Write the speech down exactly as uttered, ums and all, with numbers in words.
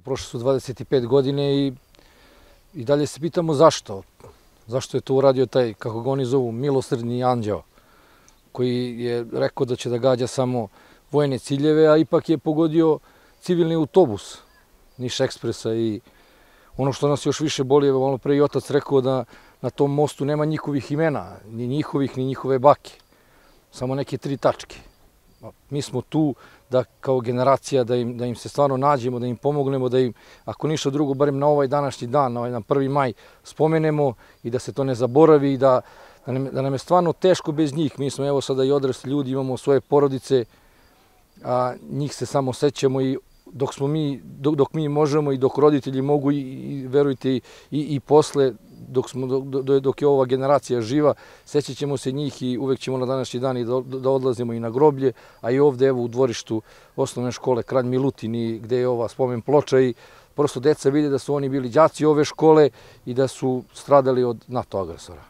Prošle su dvadeset pet godine i, i dalje se pitamo zašto. Zašto je to uradio taj, kako ga oni zovu, milosrdni anđeo, koji je rekao da će da gađa samo vojne ciljeve, a ipak je pogodio civilni autobus Niš ekspresa. I ono što nas još više boli, malo pre i otac rekao da na tom mostu nema njihovih imena, ni njihovih, ni njihove bake. Samo neke tri tačke. Mi smo tu da kao generacija da im, da im se stvarno nađemo, da im pomognemo, da im, ako ništa drugo, barem na ovaj današnji dan, na ovaj na prvi maj, spomenemo i da se to ne zaboravi i da, da, nam, da nam je stvarno teško bez njih. Mi smo evo sada i odrasli ljudi, imamo svoje porodice, a njih se samo sećamo i dok smo mi, dok, dok mi možemo i dok roditelji mogu i, i verujte i, i posle, dok, smo, dok, dok je ova generacija živa, sećat ćemo se njih i uvek ćemo na današnji dan i da, da odlazimo i na groblje, a i ovde evo u dvorištu osnovne škole Kralj Milutin i gde je ova spomen ploča i prosto deca vide da su oni bili đaci ove škole i da su stradali od NATO agresora.